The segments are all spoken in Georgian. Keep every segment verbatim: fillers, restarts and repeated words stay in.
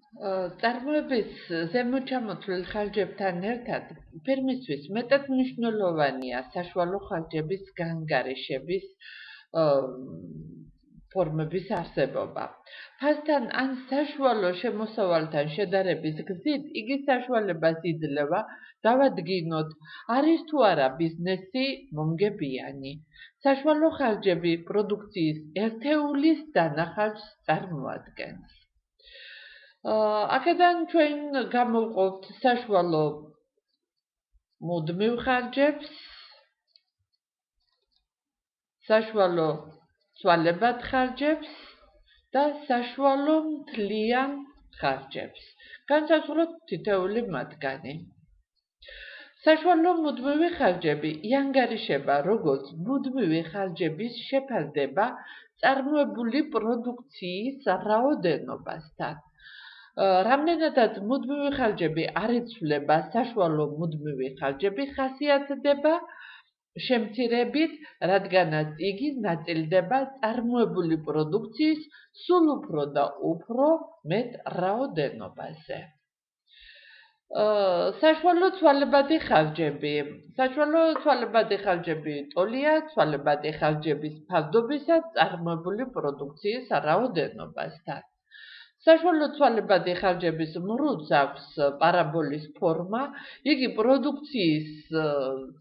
წარმოების ზემოჩამოთვლილ ხარჯებთან ერთად ფირმისთვის მეტად მნიშვნელოვანია საშუალო ხარჯების განგარიშების ფორმების არსებობა. ფასთან ან საშუალო შემოსავალთან შედარების გზით იგი საშუალებას იძლევა დავადგინოთ, არის თუ არა ბიზნესი მომგებიანი. საშუალო ხარჯები პროდუქციის ერთეულის დანახარჯს წარმოადგენს. აქედან ჩვენ გამოვყავთ საშუალო მუდმივ ხარჯებს, საშუალო ცვალებად ხარჯებს და საშუალო მთლიან ხარჯებს. განსაზღვროთ თითოეული მათგანი. საშუალო მუდმივი ხარჯები იანგარიშება როგორც მუდმივი ხარჯების შეფასდება წარმოებული პროდუქციის რაოდენობასთან. რამდენადაც მუდმივი ხარჯები არ იცვლება, საშუალო მუდმივი ხარჯები ხასიათდება შემცირებით, რადგანაც იგი ნაწილდება წარმოებული პროდუქციის სულ უფრო და უფრო მეტ რაოდენობაზე. საშუალო ცვალებადი ხარჯები. საშუალო ცვალებადი ხარჯები ტოლია ცვალებადი ხარჯების ფასდობისა წარმოებული პროდუქციის რაოდენობასთან. საშუალო ცვალებადი ხარჯების მრუდს აქვს პარაბოლის ფორმა, იგი პროდუქციის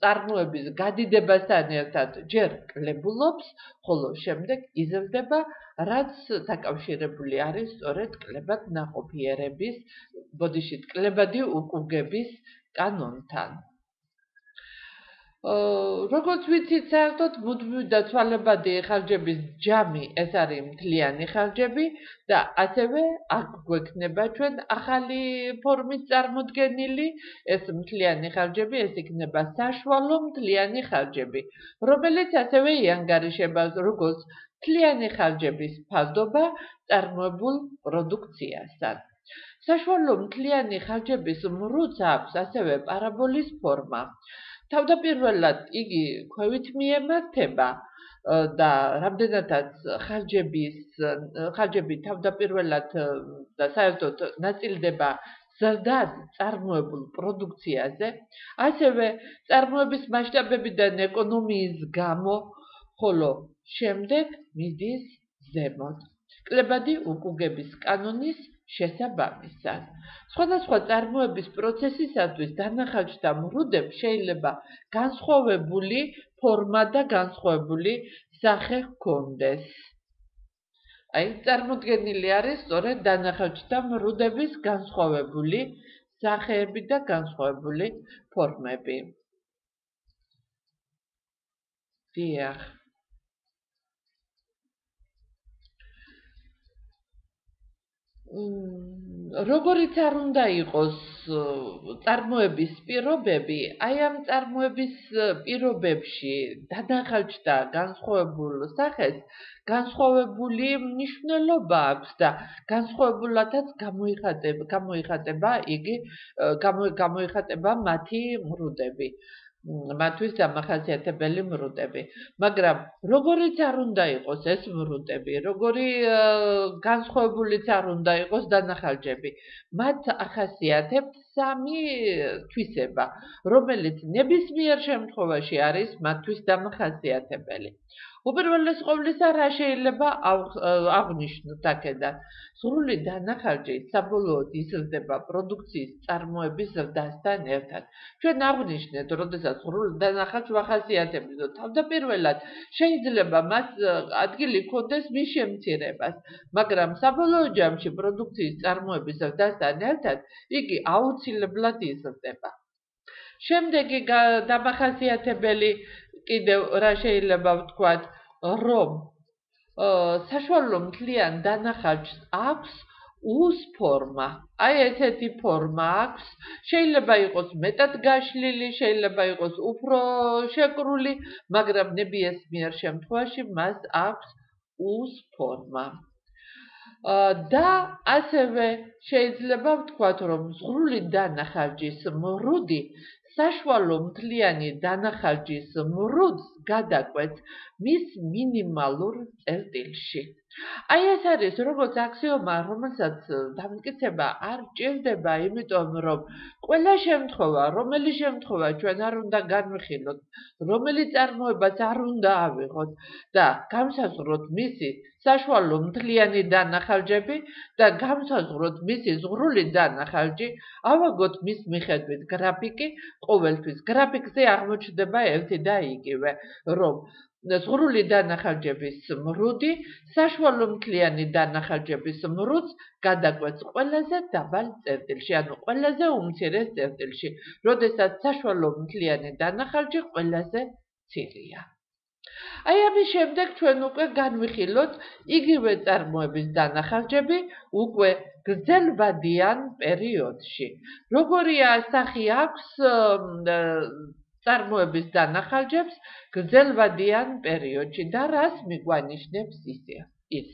წარმოების გადიდებასთან ერთად ჯერ კლებულობს, ხოლო შემდეგ იზრდება, რაც დაკავშირებული არის სწორედ კლებად ნაყოფიერების, ბოდიშით კლებადი უკუგების კანონთან. როგორც ვიცით, საერთოდ მუდმივი და ცვალებადი ხარჯების ჯამი ეს არის მთლიანი ხარჯები და ასევე აქ გვექნება ჩვენ ახალი ფორმის წარმოდგენილი, ეს მთლიანი ხარჯები, ეს იქნება საშუალო მთლიანი ხარჯები, რომელიც ასევე იანგარიშება როგორც მთლიანი ხარჯების ფასდობა წარმოებულ პროდუქციასთან. საშუალო მთლიანი ხარჯების მრუდს აქვს ასევე პარაბოლის ფორმა. თავდაპირველად იგი ქვევით მიემართება და რამდენადაც ხარჯების ხარჯები თავდაპირველად და საერთოდ ნაწილდება ზრდად წარმოებულ პროდუქციაზე, ასევე წარმოების მასშტაბებიდან ეკონომიის გამო, ხოლო შემდეგ მიდის ზემოთ. კლებადი უკუგების კანონის შესაბამისად. სხვადასხვა წარმოების პროცესისათვის დანახარჯთა მრუდებს შეიძლება განსხვავებული ფორმა და განსხვავებული სახე ჰქონდეს. აი, წარმოდგენილი არის სწორედ დანახარჯთა მრუდების განსხვავებული სახეები და განსხვავებული ფორმები. დიახ. როგორიც არ უნდა იყოს წარმოების პირობები, აი ამ წარმოების პირობებში დანახარჯთა განსხვავებულ სახეს განსხვავებული მნიშვნელობა აქვს და განსხვავებულადაც გამოიხატება, გამოიხატება იგი გამოიხატება მათი მრუდები. მათთვის დამახასიათებელი მრუდები. მაგრამ როგორიც არ უნდა იყოს ეს მრუდები, როგორი განსხვავებულიც არ უნდა იყოს დანახარჯები, მათ ახასიათებთ სამი თვისება, რომელიც ნებისმიერ შემთხვევაში არის მათთვის დამახასიათებელი. უპირველეს ყოვლისა, რა შეიძლება აღვნიშნოთ აქედან? სრული დანახარჯი საბოლოოდ იზრდება პროდუქციის წარმოების ზრდასთან ერთად. ჩვენ აღვნიშნეთ, როდესაც სრული დანახარჯს ვახასიათებთ, თავდაპირველად შეიძლება მას ადგილი ჰქონდეს მის შემცირებას, მაგრამ საბოლოო ჯამში პროდუქციის წარმოების ზრდასთან ერთად იგი აუცილებლად იზრდება. შემდეგი დამახასიათებელი კიდევ რა შეიძლება ვთქვათ, რომ საშუალო მთლიან დანახარჯს აქვს უს ფორმა. აი ესეთი ფორმა აქვს, შეიძლება იყოს მეტად გაშლილი, შეიძლება იყოს უფრო შეკრული, მაგრამ ნებისმიერ შემთხვევაში მას აქვს უს ფორმა. და ასევე შეიძლება ვთქვათ, რომ ზღვრული დანახარჯის მრუდი საშუალო მთლიანი დანახარჯის მრუდს გადაკვეთს მის მინიმალურ წერტილში. აი ეს არის როგორც აქსიომა, რომელსაც დამტკიცება არ ჭირდება, იმიტომ რომ ყველა შემთხვევა, რომელი შემთხვევა ჩვენ არ უნდა განვიხილოთ, რომელი წარმოებაც არ უნდა ავიღოთ და გამსაზღვროთ მისი საშუალო მთლიანი დანახალჯები და გამსაზღვროთ მისი ზღვრული დანახალჯი, ავაგოთ მის მიხედვით გრაფიკი, ყოველთვის გრაფიკზე აღმოჩნდება ერთი და იგივე, რომ ზღვრული დანახალჯების მრუდი საშუალო მთლიანი დანახალჯების მრუდს გადაკვეთს ყველაზე დაბალ წერტილში, ანუ ყველაზე უმცირეს წერტილში, როდესაც საშუალო მთლიანი დანახალჯი ყველაზე მცირეა. აი ამის შემდეგ ჩვენ უკვე განვიხილოთ იგივე წარმოების დანახალჯები უკვე გრძელვადიან პერიოდში. როგორი ასახი აქვს წარმოების დანახალჯებს გრძელვადიან პერიოდში და რას მიგვანიშნებს ისე ის.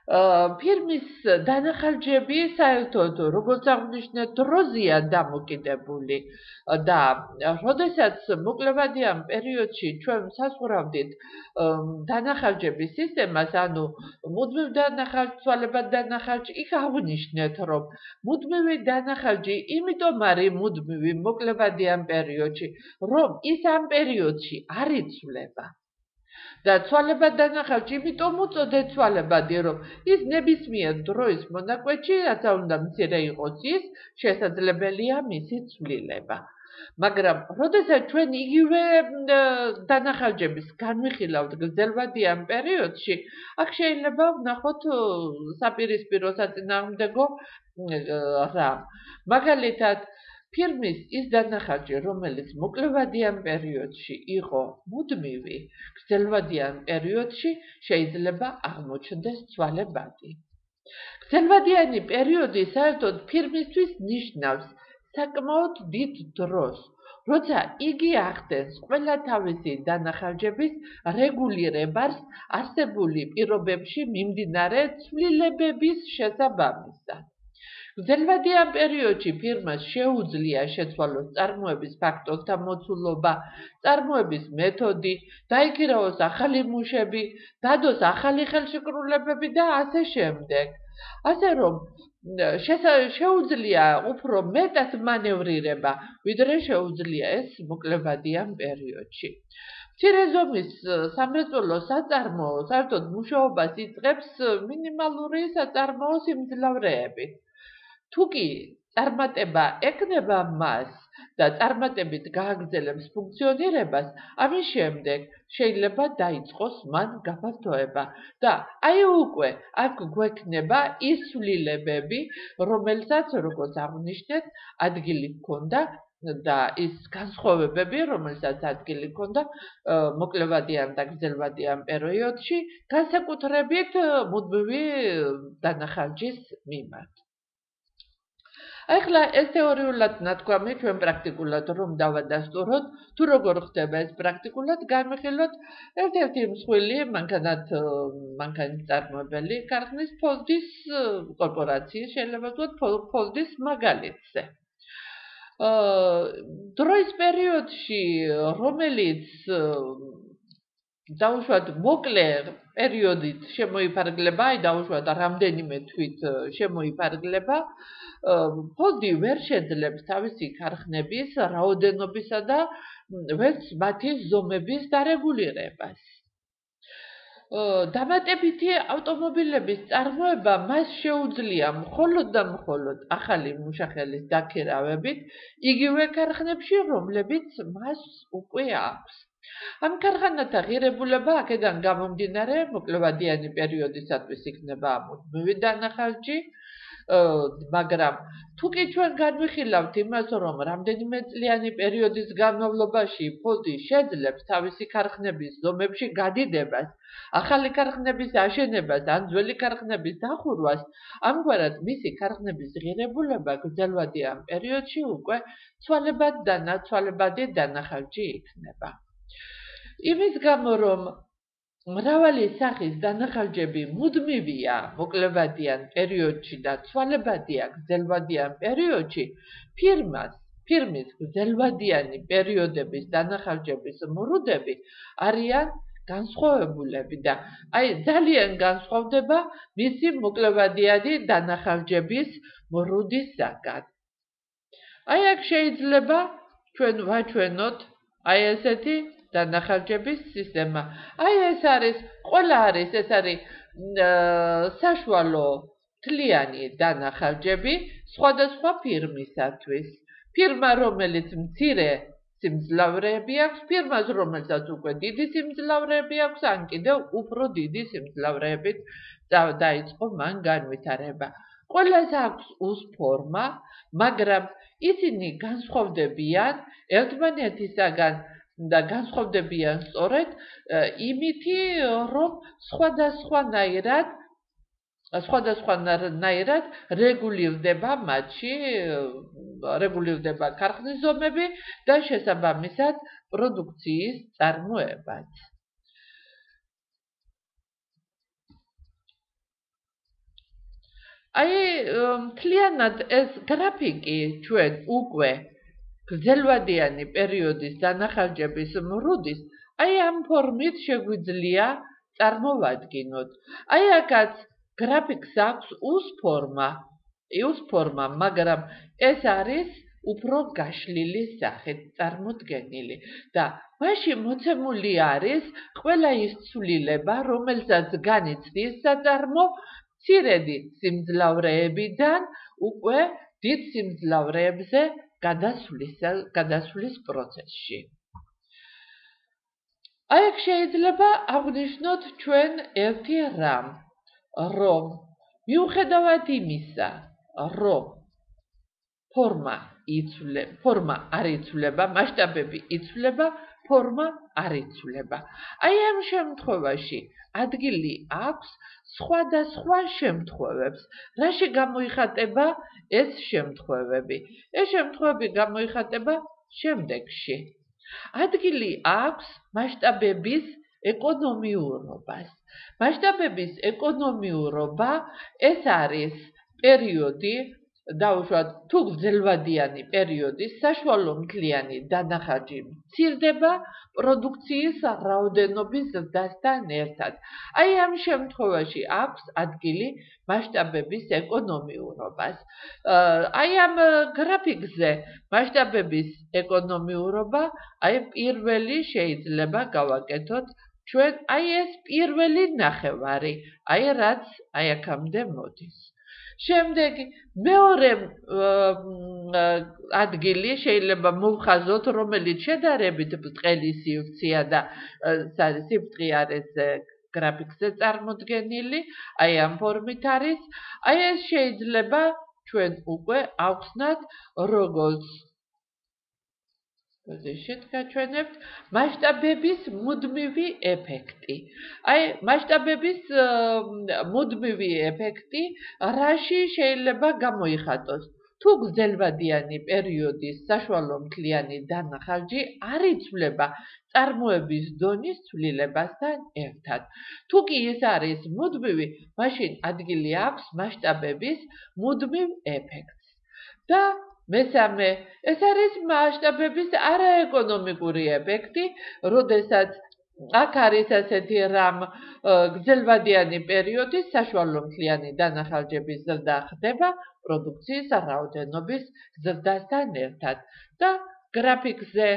ფირმის დანახალჯები საერთოდ როგორც აღვნიშნეთ დროზეა დამოკიდებული და როდესაც მოკლევადიან პერიოდში ჩვენ საზღვრავდით დანახალჯების სისტემას, ანუ მუდმივ დანახალჯ, ცვალებად დანახალჯი, იქ აღვნიშნეთ, რომ მუდმივი დანახალჯი იმიტომ არის მუდმივი მოკლევადიან პერიოდში, რომ ის ამ პერიოდში არ იცვლება. და ცვალებად დანახალჯი იმიტომ უწოდეთ ცვალებადი, რომ ის ნებისმიერ დროის მონაკვეთში, რაც უნდა მცირე იყოს ის, შესაძლებელია მისი ცვლილება. მაგრამ, როდესაც ჩვენ იგივე დანახალჯების განვიხილავთ გრძელვადიან პერიოდში, აქ შეიძლება ვნახოთ საპირისპირო საწინააღმდეგო რამ. მაგალითად, ფირმის ის დანახალჯი, რომელიც მოკლევადიან პერიოდში იყო მუდმივი, გრძელვადიან პერიოდში შეიძლება აღმოჩნდეს ცვალებადი. გრძელვადიანი პერიოდი საერთოდ ფირმისთვის ნიშნავს საკმაოდ დიდ დროს, როცა იგი ახდენს ყველა თავისი დანახალჯების რეგულირებას არსებული პირობებში მიმდინარე ცვლილებების შესაბამისად. გრძელვადიან პერიოდში ფირმას შეუძლია შეცვალოს წარმოების ფაქტორთა მოცულობა, წარმოების მეთოდი, დაიქირავოს ახალი მუშები, დადოს ახალი ხელშეკრულებები და ასე შემდეგ. ასე რომ შეუძლია უფრო მეტად მანევრირება, ვიდრე შეუძლია ეს მოკლევადიან პერიოდში. მცირე ზომის სამრეწველო საწარმოო საერთოდ მუშაობას იწყებს მინიმალური საწარმოო სიმძლავრეებით. თუ კი წარმატება ეკნება მას და წარმატებით გააგრძელებს ფუნქციონირებას, ამის შემდეგ შეიძლება დაიწყოს მან გაფართოება და აი უკვე აქ გვექნება ის ცვლილებები, რომელსაც როგორც აღვნიშნეთ, ადგილი ჰქონდა და ის განსხვავებები, რომელსაც ადგილი ჰქონდა მოკლევადიან და გრძელვადიან პერიოდში, განსაკუთრებით მუდმივი დანახალჯის მიმართ. ახლა ეს თეორიულად ნათქვამი ჩვენ პრაქტიკულად რომ დავადასტუროთ, თუ როგორ ხდება ეს პრაქტიკულად განვიხილოთ ერთ-ერთი მსხვილი მანქანათ მანქანის წარმოებელი ქარხნის ფოლდის კორპორაციის შეიძლება ვთქვათ ფოლდის მაგალითზე. დროის პერიოდში, რომელიც დაუშვათ მოკლე პერიოდით შემოიფარგლება, აი დაუშვათ რამდენიმე თვით შემოიფარგლება, ფოლდი ვერ შეძლებს თავისი ქარხნების რაოდენობისა და ვერც მათი ზომების დარეგულირებას. დამატებითი ავტომობილების წარმოება მას შეუძლია მხოლოდ და მხოლოდ ახალი მუშახელის დაქირავებით იგივე ქარხნებში, რომლებიც მას უკვე აქვს. ამ ქარხანათა ღირებულება აქედან გამომდინარე მოკლევადიანი პერიოდისათვის იქნება მუდმივი დანახალჯი, მაგრამ თუ კი ჩვენ განვიხილავთ იმას, რომ რამდენიმე წლიანი პერიოდის განმავლობაში ფოლდი შეძლებს თავისი ქარხნების ზომებში გადიდებას, ახალი ქარხნების აშენებას ან ძველი ქარხნების დახურვას, ამგვარად მისი ქარხნების ღირებულება გრძელვადიან პერიოდში უკვე ცვალებადი დანახალჯი იქნება. იმის გამო, რომ მრავალი სახის დანახალჯები მუდმივია მოკლევადიან პერიოდში და ცვალებადია გრძელვადიან პერიოდში, ფირმას, ფირმის გრძელვადიანი პერიოდების დანახალჯების მრუდები არიან განსხვავებულები და აი ძალიან განსხვავდება მისი მოკლევადიანი დანახარჯების მრუდისაგან. აი აქ შეიძლება ჩვენ ვაჩვენოთ აი ესეთი დანახარჯების სისტემა. აი ეს არის, ყველა არის, ეს არის საშუალო თლიანი დანახარჯები სხვადასხვა ფირმისათვის. ფირმა, რომელიც მცირე სიმძლავრეები აქვს, ფირმას, რომელსაც უკვე დიდი სიმძლავრეები აქვს, ან კიდევ უფრო დიდი სიმძლავრეებით დაიწყო მან განვითარება. ყველას აქვს უს ფორმა, მაგრამ ისინი განსხვავდებიან ერთმანეთისაგან და განსხვავდებიან სწორედ იმითი, რომ სხვადასხვანაირად სხვადასხვანაირად რეგულირდება მათში, რეგულირდება ქარხნის ზომები და შესაბამისად პროდუქციის წარმოებაც. აი, მთლიანად ეს გრაფიკი ჩვენ უკვე გრძელვადიანი პერიოდის დანახარჯების მრუდის, აი ამ ფორმით შეგვიძლია წარმოვადგინოთ. აი აქაც გრაფიკს აქვს უს ფორმა, უს ფორმა, მაგრამ ეს არის უფრო გაშლილი სახით წარმოდგენილი და მასში მოცემული არის ყველა ის ცვლილება, რომელსაც განიცდის საწარმო მცირედი სიმძლავრეებიდან უკვე დიდ სიმძლავრეებზე გადასვლის პროცესში. აი აქ შეიძლება აღვნიშნოთ ჩვენ ერთი რამ, რომ მიუხედავად იმისა, რომ ფორმა იცვლება, ფორმა არ იცვლება, მასშტაბები იცვლება, ფორმა არ იცვლება. აი ამ შემთხვევაში ადგილი აქვს სხვადასხვა შემთხვევებს. რაში გამოიხატება ეს შემთხვევები? ეს შემთხვევები გამოიხატება შემდეგში. ადგილი აქვს მასშტაბების ეკონომიურობას. მასშტაბების ეკონომიურობა ეს არის პერიოდი, დაუშვათ თუ გრძელვადიანი პერიოდი, საშუალო მთლიანი დანახარჯი მცირდება პროდუქციის რაოდენობის ზრდასთან ერთად. აი ამ შემთხვევაში აქვს ადგილი მასშტაბების ეკონომიურობას. აი ამ გრაფიკზე მასშტაბების ეკონომიურობა, აი პირველი შეიძლება გავაკეთოთ ჩვენ, აი ეს პირველი ნახევარი, აი რაც აი აქამდე მოდის. შემდეგი მეორე ადგილი შეიძლება მოვხაზოთ, რომელიც შედარებით ბრტყელი სივრცეა და სიფრთხე არის გრაფიკზე წარმოდგენილი, აი ამ ფორმით არის. აი ეს შეიძლება ჩვენ უკვე ავხსნათ როგორც პოზიციით გაჩვენებთ მასშტაბების მუდმივი ეფექტი. აი მასშტაბების მუდმივი ეფექტი რაში შეიძლება გამოიხატოს? თუ გრძელვადიანი პერიოდის საშუალო მთლიანი დანახარჯი არ იცვლება წარმოების დონის ცვლილებასთან ერთად. თუ კი ეს არის მუდმივი, მაშინ ადგილი აქვს მასშტაბების მუდმივ ეფექტს. და მესამე, ეს არის მასშტაბების არაეკონომიკური ეფექტი, როდესაც აქ არის ასეთი რამ გრძელვადიანი პერიოდის საშუალო მთლიანი დანახარჯების ზრდა ხდება პროდუქციის რაოდენობის ზრდასთან ერთად. და გრაფიკზე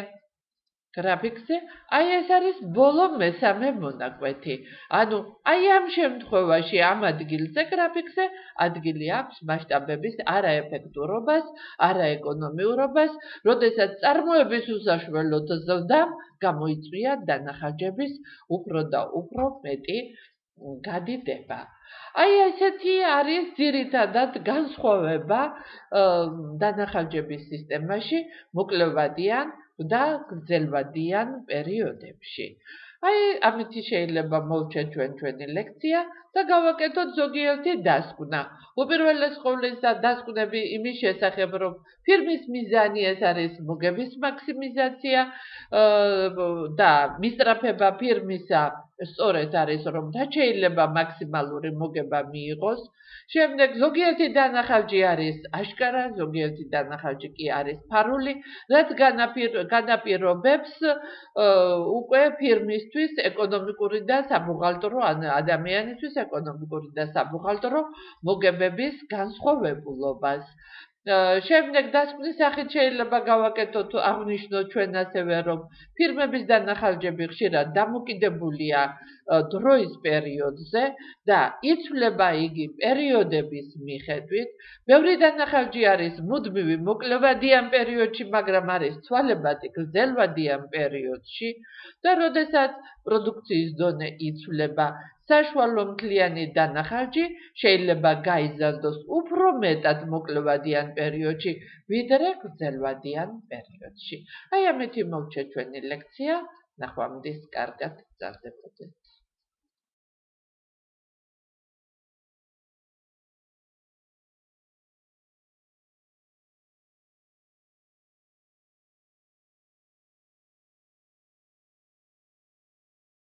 გრაფიკზე აი ეს არის ბოლო მესამე მონაკვეთი. ანუ აი ამ შემთხვევაში ამ ადგილზე გრაფიკზე ადგილი აქვს მასშტაბების არაეფექტურობას, არაეკონომიურობას, როდესაც წარმოების უსაშველოდ ზრდამ გამოიწვია დანახარჯების უფრო და უფრო მეტი გადიდება. აი ესეთი არის ძირითადად განსხვავება დანახარჯების სისტემაში მოკლევადიან და გრძელვადიან პერიოდებში. აი ამით შეიძლება მოვჩეთ ჩვენ ჩვენი ლექცია და გავაკეთოთ ზოგიერთი დასკვნა. უპირველეს ყოვლისა დასკვნები იმის შესახებ, რომ ფირმის მიზანი ეს არის მოგების მაქსიმიზაცია და მისწრაფება ფირმისა სწორედ არის, რომ და შეიძლება მაქსიმალური მოგება მიიღოს. შემდეგ ზოგიერთი დანახავჯი არის აშკარა, ზოგიერთი დანახავჯი კი არის ფარული, რაც განაპირობებს უკვე ფირმისთვის ეკონომიკური და საბუღალტრო ან ადამიანისთვის ეკონომიკური და საბუღალტრო მოგებების განსხვავებულობას. შემდეგ დასკვნის სახით შეიძლება გავაკეთოთ აღნიშნოთ ჩვენ ასევე რომ ფირმების დანახავჯები ხშირად დამოკიდებულია დროის პერიოდზე და იცვლება იგი პერიოდების მიხედვით. ბევრი დანახავჯი არის მუდმივი მოკლევადიან პერიოდში, მაგრამ არის ცვალებადი გრძელვადიან პერიოდში და როდესაც პროდუქციის დონე იცვლება, საშუალო მთლიანი დანახავჯი შეიძლება გაიზარდოს უფრო მეტად მოკლევადიან პერიოდში, ვიდრე გრძელვადიან პერიოდში. აი ამით მოვჩა ჩვენი ლექცია. ნახვამდის კარგად გრძელდებოდეს.